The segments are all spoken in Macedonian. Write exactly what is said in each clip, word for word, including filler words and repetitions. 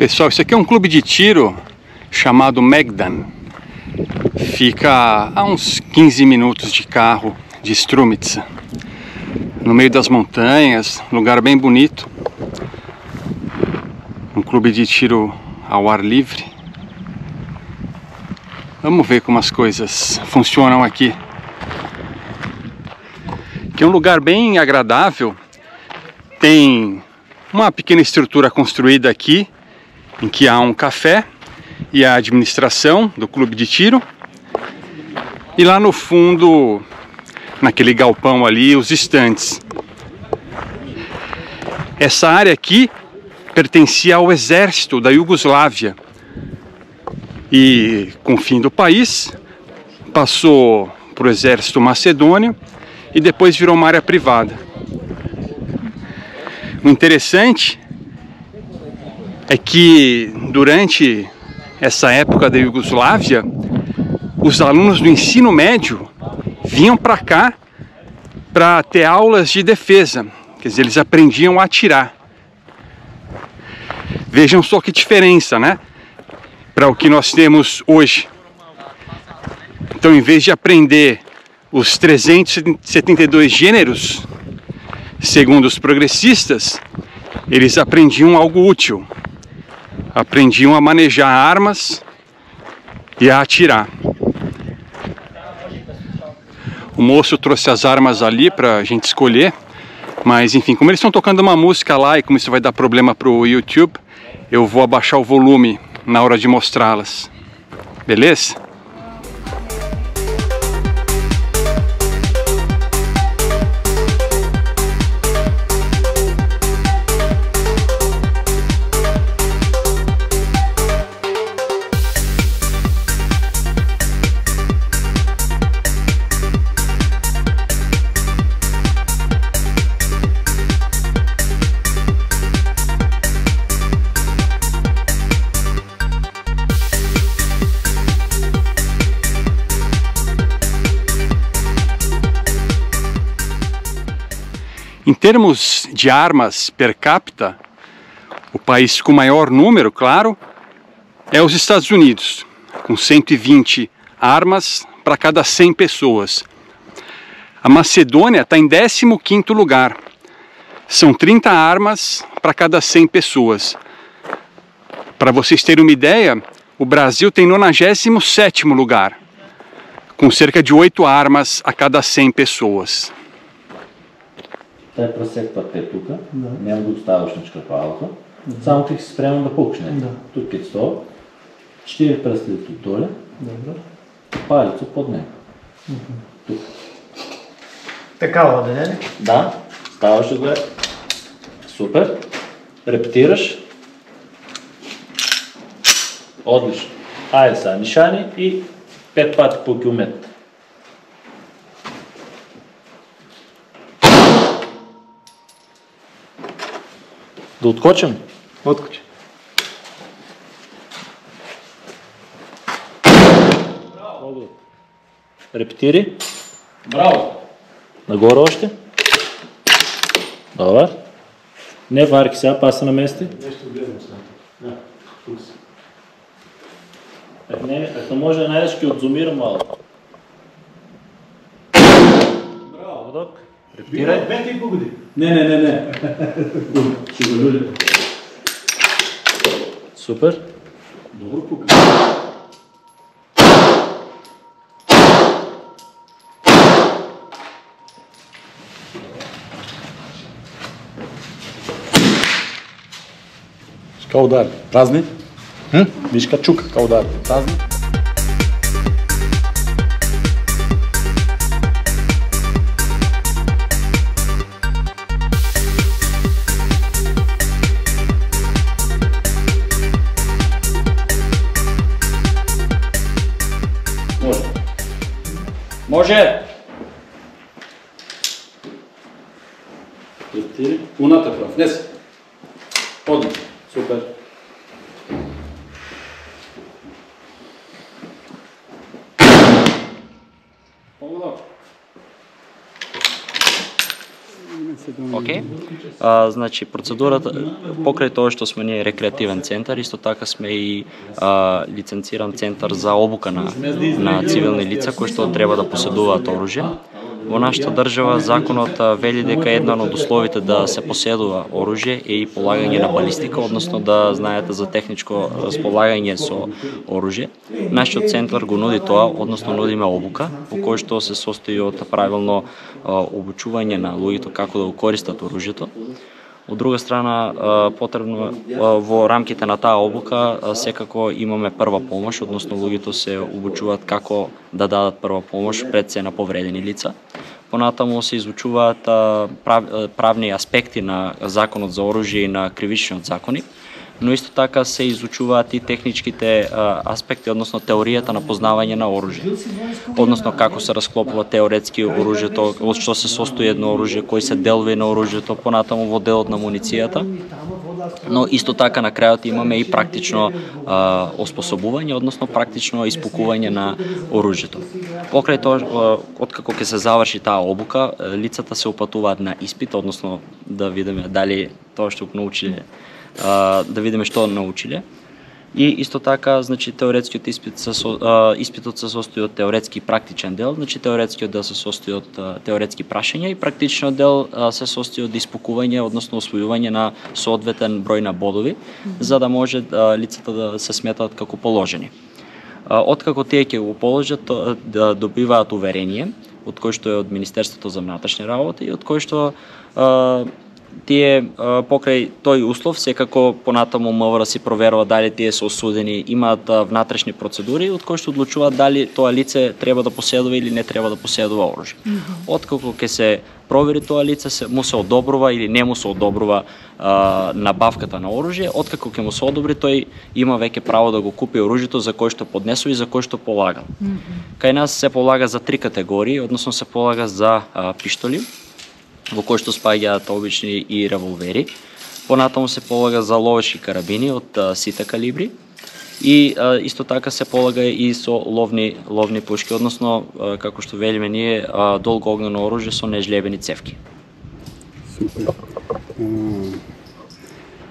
Pessoal, isso aqui é um clube de tiro chamado Megdan. Fica a uns quinze minutos de carro de Strumitsa, no meio das montanhas, lugar bem bonito. Um clube de tiro ao ar livre. Vamos ver como as coisas funcionam aqui. Que é um lugar bem agradável. Tem uma pequena estrutura construída aqui, em que há um café e a administração do clube de tiro. E lá no fundo, naquele galpão ali, os estantes. Essa área aqui pertencia ao exército da Iugoslávia. E com o fim do país, passou para o exército macedônio e depois virou uma área privada. O interessante é que durante essa época da Iugoslávia, os alunos do ensino médio vinham para cá para ter aulas de defesa, quer dizer, eles aprendiam a atirar. Vejam só que diferença, né? Para o que nós temos hoje. Então, em vez de aprender os trezentos e setenta e dois gêneros, segundo os progressistas, eles aprendiam algo útil. Aprendiam a manejar armas e a atirar. O moço trouxe as armas ali para a gente escolher, mas enfim, como eles estão tocando uma música lá e como isso vai dar problema para o YouTube, eu vou abaixar o volume na hora de mostrá-las. Beleza? Em termos de armas per capita, o país com maior número, claro, é os Estados Unidos, com cento e vinte armas para cada cem pessoas. A Macedônia está em décimo quinto lugar, são trinta armas para cada cem pessoas. Para vocês terem uma ideia, o Brasil tem nonagésimo sétimo lugar, com cerca de oito armas a cada cem pessoas. Те пресекват те тука, няма да оставаш на чкапалото, само ти си спрямо да пукне. Тук е сто, четири пръсти доле, палецо под него. Тук. Така вода, не? Да, ставаш да го е. Супер. Репетираш. Отлично. Айде сега, нишани и пет пати по километр. Да откочим? Откочи. Браво! Репетири. Браво! Нагоре още. Добре. Не варки сега, паса на месте. Нещо гледам сега. Да, тук си. Е, не, ако може да найдеш, ще отзумирам малко. Браво! Док. Репетирай. Пети и погоди. Не, не, не, не. Ще го люля. Супер. Добро пука. Kao udar. Prazni? Hm? Viš kad čuka kao udar. Prazni? Može. Može! Репетири. Уната прав. Внес. Подни. Супер. Много добро. Океј. Okay. Значи процедурата покрај тоа што сме ние рекреативен центар, исто така сме и а, лиценциран центар за обука на на цивилни лица кои што треба да поседуваат оружје. Во нашата држава законот вели дека едно од условите да се поседува оружје е и полагање на балистика, односно да знаете за техничко располагање со оружје. Нашиот центар го нуди тоа, односно нудиме обука, во кој што се состои од правилно обучување на луѓето како да го користат оружјето. Од друга страна, потребно во рамките на таа обука секако имаме прва помош, односно луѓето се обучуваат како да дадат прва помош пред се на повредени лица. Понатаму се изучуваат прав, правни аспекти на законот за оружје и на кривичниот закони, но исто така се изучуваат и техничките аспекти, односно теоријата на познавање на оружје. Односно како се расклопува теоретски оружјето, од што се состои едно оружје, кои се делови на оружјето, понатаму во делот на муницијата. Но исто така на крајот имаме и практично а, оспособување, односно практично испукување на оружјето. Покрај тоа, откако ќе се заврши таа обука, лицата се упатуваат на испит, односно да видиме дали тоа што го научиле, а, да видиме што научиле. И исто така, значи теоретскиот испит се со, испитот се состои од теоретски и практичен дел, значи теоретскиот дел се состои од теоретски прашања и практичниот дел се состои од испукување, односно освојување на соодветен број на бодови, за да може лицата да се сметат како положени. Откако тие ќе го положат, да добиваат уверение, од кој што е од Министерството за внатрешни работи и од кој што тие покрај тој услов секако понатаму МВР си проверува дали тие се осудени, имаат внатрешни процедури од кои што одлучуваат дали тоа лице треба да поседува или не треба да поседува оружје. Mm-hmm. Откако ќе се провери тоа лице, се, му се одобрува или не му се одобрува а, набавката на оружје, откако ќе му се одобри, тој има веќе право да го купи оружјето за кој што поднесува и за кој што полага. Mm-hmm. Кај нас се полага за три категории, односно се полага за а, пиштоли, во кој што спаѓаат обични и револвери. Понатаму се полага за ловечки карабини од а, сите калибри и а, исто така се полага и со ловни ловни пушки, односно а, како што велиме ние а, долгоогнено оружје со нежлебени цевки. Супер. Uh,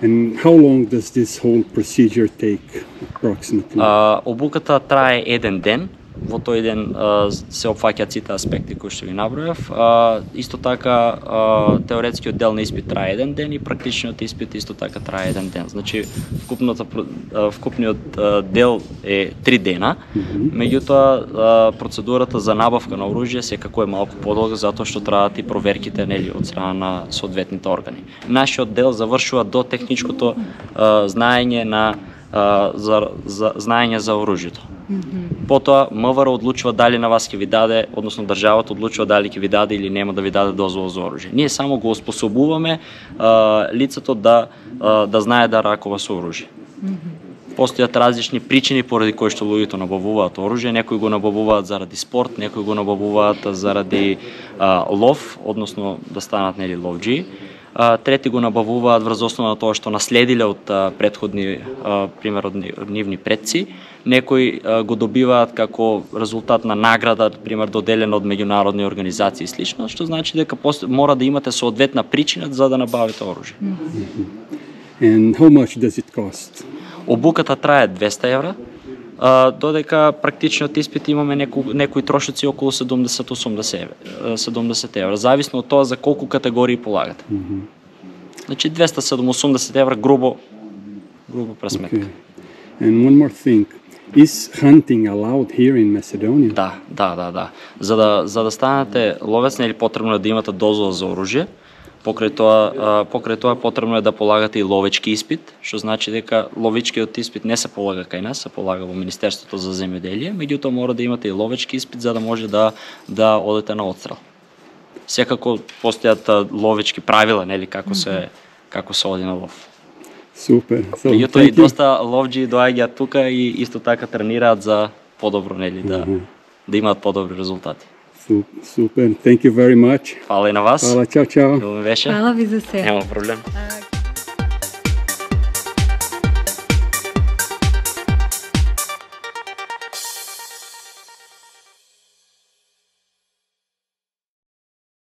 and how long does this whole procedure take approximately? Uh, обуката трае еден ден. Во тој ден а, се опфаќаат сите аспекти кои што ви набројав. А, исто така а, теоретскиот дел на испит трае еден ден и практичниот испит исто така трае еден ден. Значи вкупната вкупниот а, дел е три дена. Mm-hmm. Меѓутоа процедурата за набавка на оружје секако е малку подолга затоа што траат и проверките нели од страна на соодветните органи. Нашиот дел завршува до техничкото а, знаење на а, за, за знаење за оружјето. Mm-hmm. Потоа МВР одлучува дали на вас ќе ви даде, односно државата одлучува дали ќе ви даде или нема да ви даде дозвола за оружје. Ние само го оспособуваме а, лицето да а, да знае да ракува со оружје. Mm-hmm. Постојат различни причини поради кои што луѓето набавуваат оружје, некои го набавуваат заради спорт, некои го набавуваат заради а, лов, односно да станат нели ловџи. Трети го набавуваат врз основа на тоа што наследиле од претходни, пример од нивни предци. Некои го добиваат како резултат на награда, пример доделена од меѓународни организации и слично, што значи дека мора да имате соодветна причина за да набавите оружје. And how much does it cost? Обуката трае двеста евра. Додека практичниот испит имаме неку, некои трошоци околу седумдесет до осумдесет евра, зависно од тоа за колку категории полагате. Mm-hmm. Значи двеста осумдесет евра грубо грубо пресметка. Okay. And one more thing. Is hunting allowed here in Macedonia? Да, да, да, да. За да за да станете ловец нели потребно е да имате дозвола за оружје. Покрај тоа, покрај тоа потребно е да полагате и ловечки испит, што значи дека ловечкиот испит не се полага кај нас, се полага во Министерството за земјоделие, меѓутоа мора да имате и ловечки испит за да може да да одите на отстрел. Секако постојат ловечки правила, нели, како се како се оди на лов. Супер. So, меѓутоа и доста ловџи доаѓаат тука и исто така тренираат за подобро, нели, да mm-hmm. да имаат подобри резултати. Супер. Thank you very much. Фала и на вас. Фала, чао, чао. Добро беше. Фала ви за се. Нема проблем.